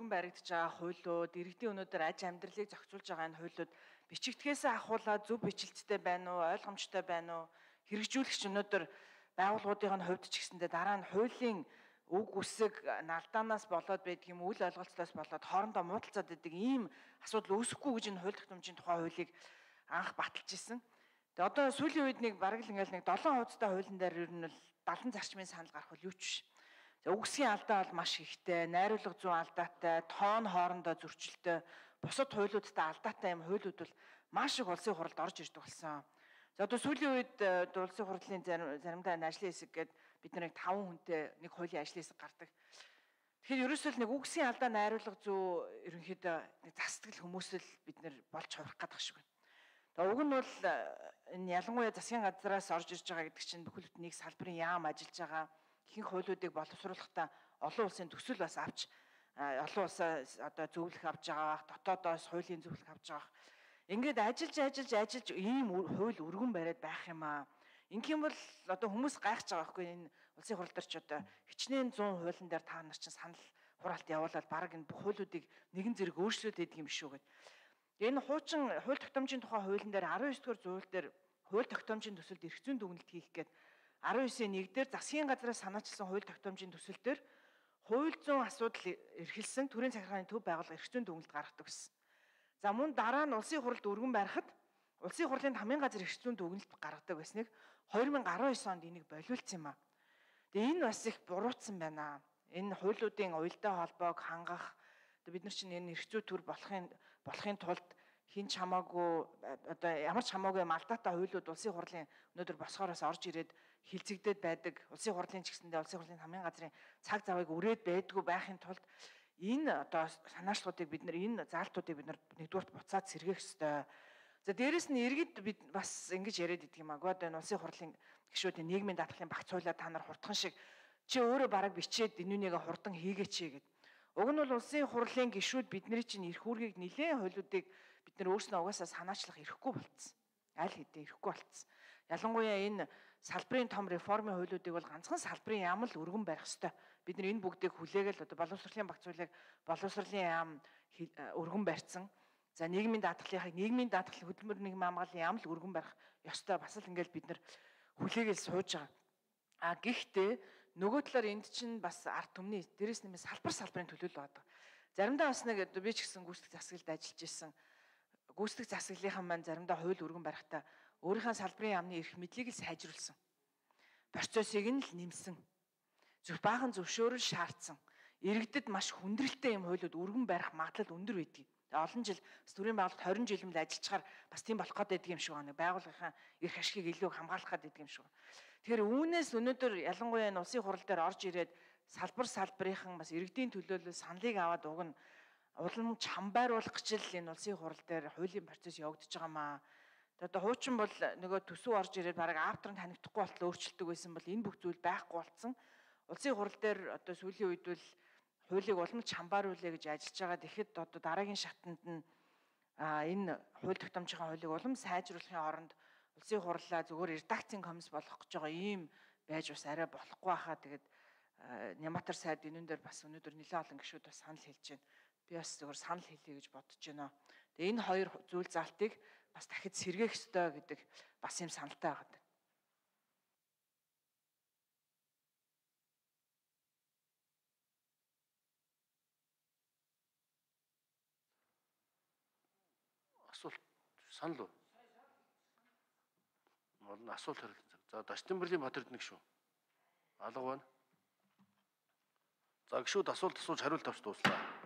өргөн баригдаж байгаа хуулиуд, иргэдийн өнөөдөр аж амьдралыг зохицуулж байгаа энэ хуулиуд бичигдэхээс ахуулаад зөв бичлэгтэй байна уу, ойлгомжтой байна уу, хэрэгжүүлэгч өнөөдөр байгууллагуудын хувьд ч гэсэндээ дараа нь хуулийн үг үсэг алдаанаас болоод байдаг юм, үл ойлголцоос болоод хоорондоо муудалцаад байдаг ийм асуудал үүсэхгүй гэж энэ хууль тогтоомжийн тухай хуулийг анх баталж исэн. Тэгээ одоо сүүлийн үед нэг бараг л ингээл нэг 7 хуудастай хуулийн дээр ер нь бол 70 зарчмын санал гарах бол юу ч биш. Үгсийн алдаа бол маш ихтэй, найруулга зүйн алдаатай, тоон хоорондоо зөрчилтэй, бусад хуулиудтай алдаатай юм хуулиуд бол маш их улсын хуралд орж ирдэг болсон. За одоо сүүлийн үед улсын хурлын заримдаа ажлын хэсэг гээд бид нэг 5 хүнтэй нэг хуулийн ажлын хэсэг гардаг. Тэгэхээр ерөөсөө нэг үгсийн алдаа найруулга зүй ерөнхийдөө нэг засдаг хүмүүс л бид нэр болж хувирах гэдэг шиг байна. Тэгээ уг нь бол энэ ялангуяа засгийн газраас орж ирж байгаа гэдэг чинь бүхэл бүтэн нэг салбарын яам ажиллаж байгаа ихэнх хуулиудыг боловсруулахдаа олон улсын төсөл бас авч олон улсаа одоо зөвлөх авч байгаа, дотоодоос хуулийн зөвлөх авч байгаа. Ингээд ажиллаж ийм хууль өргөн бариад байх юм аа. Ингэх юм бол одоо хүмүүс гайхаж байгаа байхгүй энэ улсын хурал дээр ч одоо хичнээн 100 хуулийн дээр та нар чинь санал хураалт явуулаад баг энэ бүх хуулиудыг нэгэн зэрэг өөрчлөөд идэг юм шүү гэдэг. Энэ хуучин хууль тогтоомжийн тухай хуулийн дээр 19-р зүйл дээр хууль тогтоомжийн төсөлд эрх зүйн дүгнэлт хийх гээд 19-ийн 1 дээр засгийн газраас санаачилсан хууль тогтоомжийн төсөл дээр хууль зүйн асуудал эрхэлсэн төрийн захиргааны төв байгууллага эрх зүйн дүгнэлт гаргадаг гэсэн. За мөн дараа нь улсын хуралд өргөн барихад улсын хурлын хамгийн газар эрх зүйн дүгнэлт гаргадаг байсныг 2019 онд энийг болиулсан юм аа. Тэгээ энэ бас их буруутсан байна. Энэ хуулиудын уялдаа холбоог хангах бид нар чинь энэ эрх зүй төр болохын тулд хин ч хамаагүй одоо ямар ч хамаагүй алдаатай хуулиуд улсын хурлын өнөөдөр босгоороос орж ирээд хилцэгдээд байдаг. Улсын хурлын ч гэсэндээ улсын хурлын хамгийн газрын цаг завыг өрөөд байдгүй байхын тулд энэ одоо санаачлалуудыг бид нар энэ заалтуудыг бид нар нэгдүгürt буцаад сэргээх ёстой. За дээрэс нь иргэд бид бас ингэж яриад идэг юм аа. Одоо энэ улсын хурлын гишүүдийн нийгмийн даатгалын багц хуулиа та нар хурдхан шиг чи өөрөө бараг бичээд энүүнийг хурдан хийгээч гэдэг. Уг нь бол улсын хурлын гишүүд бидний чинь эрх үүргийг нэлээд хуулиудыг бид нар өөрснөө угаасаа санаачлах эрхгүй болцсон. Аль хэдийн эрхгүй болцсон. Ялангуяа энэ салбарын том реформын хуулиудыг бол ганцхан салбарын яам л өргөн барих ёстой. Бид нар энэ бүгдийг хүлээгээл одоо боловсролын багц хуулийг боловсролын яам өргөн барьсан. За нийгмийн даатгалын хөдөлмөр нийгмийн хамгааллын яам л өргөн барих ёстой. Бас л ингээл бид нар хүлээгээл сууж байгаа. Гэхдээ нөгөө талаар энд чинь бас ард түмний дээрээс нэмээс салбарын төлөөлөл байдаг. Заримдаа бас нэг би ч гэсэн гүйцэтгэх засаглалд ажиллаж исэн. Гүйцэтгэх засаглалынхан маань заримдаа хууль өргөн барихтаа өөрийнхөө салбарын яамны эрх мэдлийг л сайжруулсан. Процессыг нь л нэмсэн. Баахан зөвшөөрөл шаардсан. Иргэдэд маш хүндрэлтэй юм хуулиуд өргөн барих магадлал өндөр байдаг. Олон жил төрийн байгууллагт 20 жил мэл ажиллачаар бас тийм болох гээд байдаг юм шиг байна. Байгууллагын эрх ашигыг илүү хамгаалах гээд байдаг юм шиг байна. Тэгэхээр үүнээс өнөөдөр ялангуяа энэ улсын хурал дээр орж ирээд салбарынхан бас иргэдийн төлөөлөл саналыг аваад уг нь улам чамбайруулах гэж л энэ улсын хурал дээр хуулийн процесс явагдаж байгаа маа. Одоо хуучин бол нөгөө төсөв орж ирээд бараг авторын танигдахгүй болтол өөрчлөлтөг байсан бол энэ бүх зүйл байхгүй болсон. Улсын хурал дээр одоо сүүлийн үед бол хуулийг улам чамбайруулъя гэж ажиллаж байгаа. Тэгэхэд одоо дараагийн шатанд нь энэ хууль тогтоомжийн хуулийг улам сайжруулахын оронд улсын хурлаа зөвхөн редакцийн комисс болгох гэж байгаа ийм байж бас арай болохгүй хаа. Тэгээд Няматар сайд энүүн дээр бас өнөөдөр нэлээд олон гишүүд бас санал хэлж байна. Би бас зөвхөн санал хэлье гэж бодож байна. Тэгээ энэ хоёр зүйл залтыг бас дахид сэргээх ёстой гэдэг бас юм саналтай байгаа. Асуулт санал уу? Болно асуулт хариулт. За Дастинбэрлийн Батэрдэнэг шүү. Алга байна. За гişүүд асуулт асууж хариулт авч дууслаа.